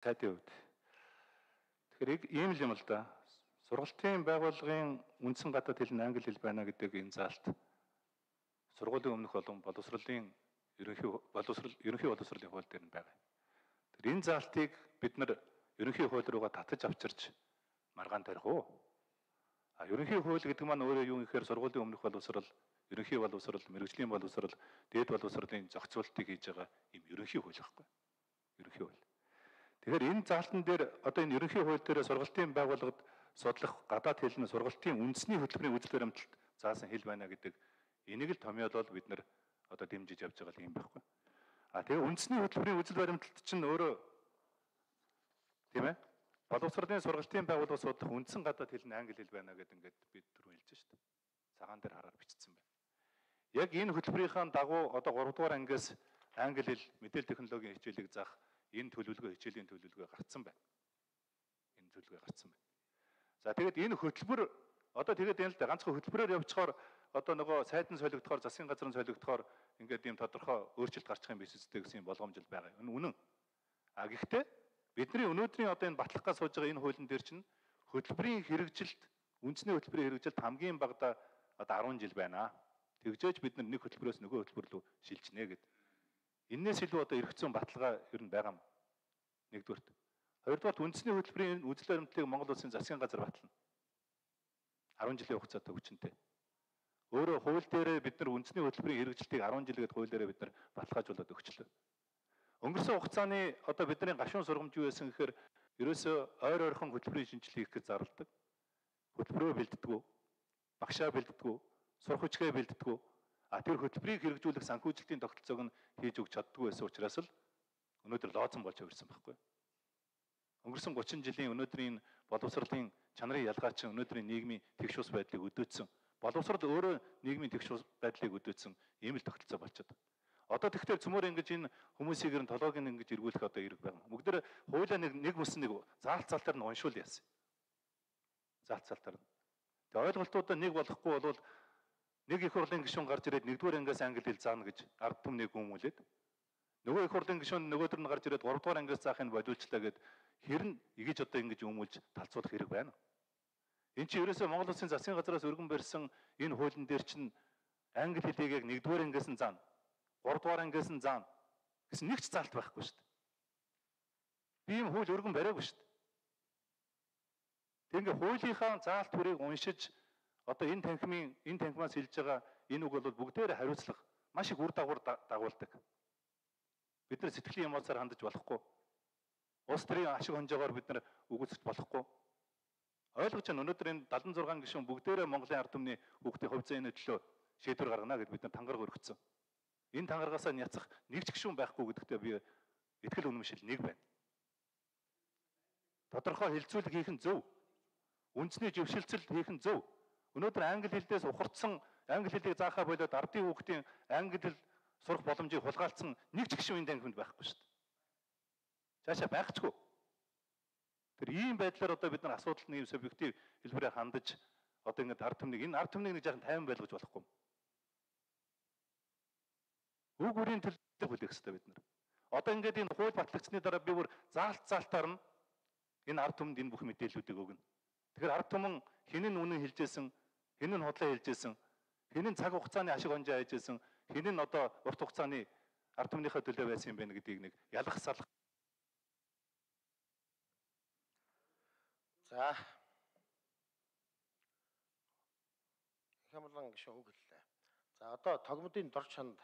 Сайдын хувьд. Тэгэхээр ийм л юм л да. Сургалтын байгууллагын үндсэн гадаад хэл нь англи хэл байна гэдэг энэ заалт сургуулийн өмнөх болон боловсролын ерөнхий боловсролын хууль дээр нь байгаа. Тэгэхээр энэ заалтыг бид нар ерөнхий хууль руугаа татаж авчирч маргаан тарих уу? Ерөнхий хууль гэдэг маань өөрөө юу гэхээр сургуулийн өмнөх боловсрол, ерөнхий боловсрол, мэргэжлийн боловсрол, дээд боловсролын зохицуултыг хийж байгаа юм ерөнхий хууль байхгүй. Ерөнхий хууль. Тэгэхээр энэ заалтан дээр одоо энэ ерөнхий хууль дээр сургалтын байгууллагад судлах гадаад хэл нь сургалтын үндэсний хөтөлбөрийн үзэл баримталд заасан хэл байна гэдэг энийг л томьёолол бид нар одоо дэмжиж явж байгаа юм байхгүй. Тэгээ үндэсний хөтөлбөрийн үзэл баримталд чинь өөрөө тийм ээ боловсролын сургалтын байгууллага судлах үндсэн гадаад хэл нь англи хэл байна гэдэг ингээд бид түрүү хэлж шээ. Цагаан дээр хараар бичсэн байна. Яг энэ хөтөлбөрийн дагуу одоо 3 дугаар ангиас англи хэл мэдээлэл технологийн хичээлийг заах энэ төлөвлөгөө хичээлийн төлөвлөгөө гарцсан байна. Энэ төлөвлөгөө гарцсан байна. За тэгээд энэ хөтөлбөр одоо тэгээд энэ л да ганцхан хөтөлбөрөөр явчихаар одоо нөгөө сайд нь солигдохоор засгийн газар нь солигдохоор ингээд ийм тодорхой өөрчлөлт гарчих юм биш үстэй гэсэн боломж л байгаа. Энэ үнэн. Гэхдээ бидний өнөөдрийн одоо энэ батлах газ сууж байгаа энэ хуулийн дээр чинь хөтөлбөрийн хэрэгжилт үндэсний хөтөлбөрийн хэрэгжилт хамгийн багадаа одоо 10 жил байна. Тэгжээж бид нэг хөтөлбөрөөс нөгөө хөтөлбөр рүү шилжнэ гэдэг. Иннээс илүү одоо эрх зүйн баталгаа ер нь байгаа юм. Нэгдүгürt. Хоёрдугаарт үндэсний хөтөлбөрийн үзэл баримтлалыг Монгол Улсын засгийн газар батална. 10 жилийн хугацаатай хүчинтэй. Өөрөө хууль дээрээ бид нар үндэсний хөтөлбөрийн хэрэгжилтийг 10 жилгээд хууль дээрээ бид нар баталгаажуулаад өгчлөө. Өнгөрсөн хугацааны одоо бидний гашуун сургамж юу байсан гэхээр ерөөсөө ойр ойрхон хөтөлбөрийн шинжилгээ хийх гэж зарладаг. Хөтөлбөрөө бэлддэг, багшаа бэлддэг, сурах хүчгээ бэлддэг. Тэр хөтөлбөрийг хэрэгжүүлэх санхүүжилтийн тогтолцоог нь хийж өгч чаддгүй байсан учраас л өнөөдөр лоозон болж ирсэн байхгүй. Өнгөрсөн 30 жилийн өнөөдрийн боловсролын чанарын ялгаа чинь өнөөдрийн нийгмийн тэгш ус байдлыг өдөөцсөн. Боловсрол өөрөө нийгмийн тэгш ус байдлыг өдөөцсөн ийм л тогтолцоо болчиход. Одоо тэгэхээр цөмөр ингэж энэ хүмүүсийг ер нь толгойг нь ингэж эргүүлэх одоо эрг байна. Бүгд хуулиа нэг бүсэн нэг заалтаар нь уншуул яасан. Заалтаар нь. Тэгээ ойлголтуудаа нэг болохгүй болвол нэг их хурлын гишүүн гарч ирээд нэгдүгээр ангиас англи хэл заана гэж ард түмнийг гүмүүлээд нөгөө их хурлын гишүүн нөгөөдөр нь гарч ирээд 3 дугаар ангиас заахыг бодиулчлаа гэд хэрн игэж одоо ингэж өмүүлж талцуулах хэрэг байна. Энд чинь ерөөсөө Монгол Улсын засгийн газраас өргөн барьсан энэ хуулийн дээр чинь англи хэлийг яг 1-р ангиас нь заана. 3 дугаар ангиас нь заана гэсэн нэг ч заалт байхгүй шүү дээ. Би ийм хууль өргөн бариагүй шүү дээ. Тэг ингээ хуулийнхаа заалт бүрийг уншиж одоо энэ танхимаас хэлж байгаа энэ үг бол бүгдээрээ хариуцлага маш их үр дагуулдаг. Бид нар сэтгэлийн эмоцоор хандаж болохгүй. Улс төрийн ашиг хонжоогоор бид нар үгүйсэж болохгүй. Ойлгож байна өнөөдөр энэ 76 гишүүн бүгдээрээ Монголын ард түмний хүүхдийн хувь зээний төлөө шийдвэр гаргана гэд бид нар тангараг өргөцсөн. Энэ тангарагасаа няцах нэг ч гишүүн байхгүй гэдэгтээ би итгэл үнэмшил нэг байна. Тодорхой хилцүүлэг хийх нь зөв. Үндэсний жившилцэл хийх нь зөв. Өнөөдөр англи хэлдээс ухардсан англи хэлийг заахаа болоод ардын хүүхдийн англи хэл сурах боломжийг хулгайлцсан нэг ч гишүүн энэ танхимд байхгүй шүү дээ. Цаашаа байхчгүй. Тэр ийм байдлаар одоо бид нар асуудалд нэг субъектив хэлбэрээр хандаж одоо ингэ ард түмнийг нэг жаахан тайван байлгаж болохгүй. Үг үрийн төлөв хүлээх хэрэгтэй бид нар. Одоо ингээд энэ хууль батлагдсны дараа би бүр заалтаар нь энэ ард түмэнд энэ бүх мэдээллүүдийг өгнө. Тэгэхээр ард түмэн хэн нь үнэн хэлжсэн, хэн нь худлаа хэлжсэн, хэн нь цаг хугацааны ашиг хонжоо хайжсэн, хэн нь одоо урт хугацааны ард түмнийхээ төлөө байсан юм бэ гэдгийг нэг ялах салах. За. Хямлан гişүн үг хэллээ. За одоо тогмодын дор чанд